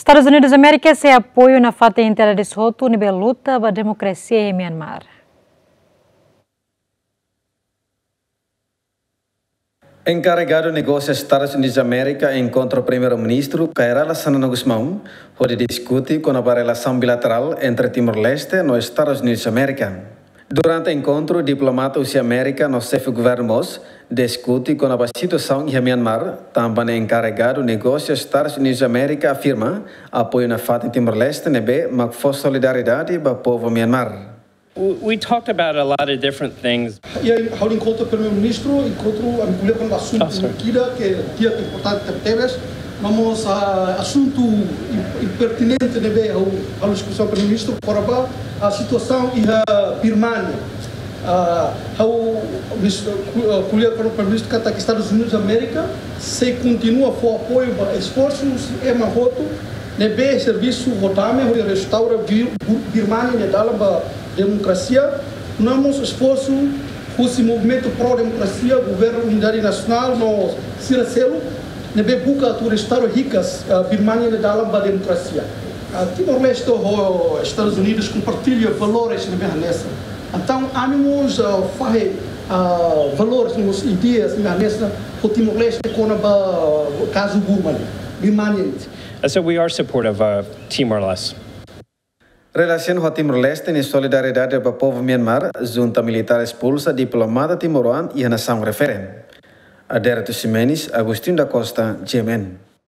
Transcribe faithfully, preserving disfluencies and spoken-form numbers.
Estadus Unidus Amérika sei apoiu nafatin entidades hotu ne'ebé luta ba demokrasia iha Myanmar. Enkarregadu negósiu Estadus Unidus Amérika enkontra Primeiru-Ministru Kay Rala Xanana Gusmão, hodi diskute kona-ba relasaun bilaterál entre Timor-Leste no Estadus Unidus Amérika. Durante enkontru, diplomata husi Amérika no xefe governu mós diskute kona-ba situasaun iha Myanmar, tanba ne'e enkarregadu negósiu Estadus Unidus Amérika afirma apoiu nafatin Timor-Leste ne'ebé mak fó solidariedade ba povu Myanmar. We talked about a lot of different things. Iha ha'u enkontru Primeiru-Ministru, enkontru ami ko'alia kona-ba asuntu ida ke di'ak, importante tebes, mas mós asuntu im-, pertinente ne'ebé ha'u, ha'u diskusaun Primeiru-Ministru kona-ba situasaun iha Birmania. Ah, ha'u mis-, ku-, ah, ko'alia ho Primeiru-Ministru katak Estadus Unidus Amérika sei kontinua fó apoiu ba esforsu husi ema hotu ne'ebé servisu ho dame hodi restaura Bir-, Bu-, Birmania nia dalan ba demokrasia, no mós esforsu husi movimentu pró-demokrasia, Governu Unidade Nasionál no sira seluk ne'ebé buka atu restaura hikas, ah, Birmania nia dalan ba demokrasia. Ah, Timor-Leste ho Estadus Unidus kompartilla valores ne'ebé hanesan. Entaun, ami mós, ah, fahe, ah, valores, mós ideias ne'ebé hanesan ho Timor-Leste kona-ba kazu Burma, Birmania. And so we are supportive of Timor-Leste. Relasiona ho Timor-Leste nia solidariedade ba povu Myanmar, junta militár espulsa diplomata timoroan iha nasaun refere. Aderito Ximenes, Agostinho da Costa, G M N.